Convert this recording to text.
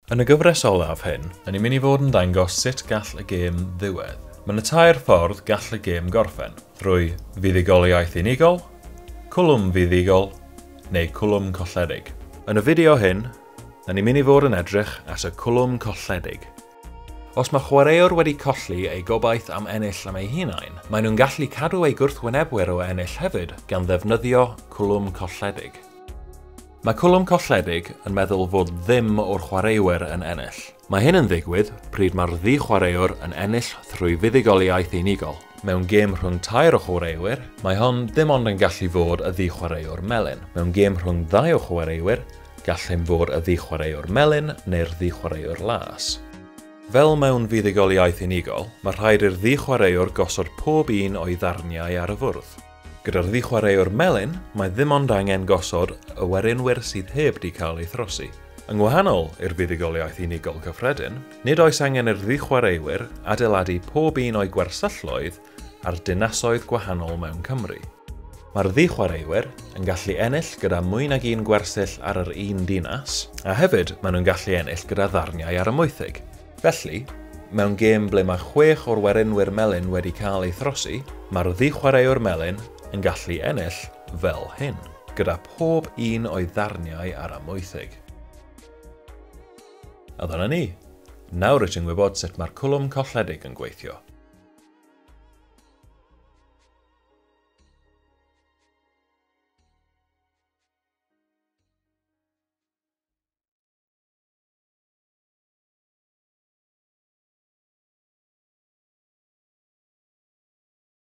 Yn y gyfres olaf hyn, 'da ni'n mynd i fod yn dangos sut gall y gêm ddiwedd. Mae 'na tair ffordd gall y gêm gorffen, drwy fuddugoliaeth unigol, cwlwm fuddugol, neu cwlwm colledig. Yn y fideo hyn, 'da ni'n mynd i fod yn edrych at y cwlwm colledig. Os mae chwaraewr wedi colli ei gobaith am ennill am eu hunain, maen nhw'n gallu cadw eu gwrthwynebwyr o ennill hefyd gan ddefnyddio cwlwm colledig. Mae cwlwm colledig yn meddwl fod ddim o'r chwaraewyr yn ennill. Mae hyn yn ddigwydd pryd mae'r ddi-chwaraewr yn ennill thrwy fuddugoliaeth unigol. Mewn gêm rhwng tair o chwaraewyr, mae hon ddim ond yn gallu fod y ddi-chwaraewr melyn. Mewn gêm rhwng ddau o chwaraewyr, gall hyn fod y ddi-chwaraewr melyn neu'r ddi-chwaraewr las. Fel mewn fuddugoliaeth unigol, mae rhaid i'r ddi-chwaraewr gosod pob un o'i ddarniau ar y fwrdd. Gyda'r ddi-chwaraewr melyn, mae ddim ond angen gosod y werinwyr sydd heb 'di cael eu throsi. Yn wahanol i'r fuddugoliaeth unigol cyffredin, nid oes angen i'r ddi-chwaraewyr adeiladu pob un o'i gwersylloedd ar dinasoedd gwahanol mewn Cymru. Mae'r ddi-chwaraewyr yn gallu ennill gyda mwy nag un gwersyll ar yr un dinas, a hefyd maen nhw'n gallu ennill gyda ddarniau ar y mwythig. Felly, mewn gêm ble mae 6 o'r werinwyr melyn wedi cael eu throsi, mae'r ddi-chwaraewr melyn yn gallu ennill fel hyn, gyda pob un o'i ddarniau ar y mwythig. A dyna ni. Nawr rwyt ti'n gwybod sut mae'r cwlwm colledig yn gweithio.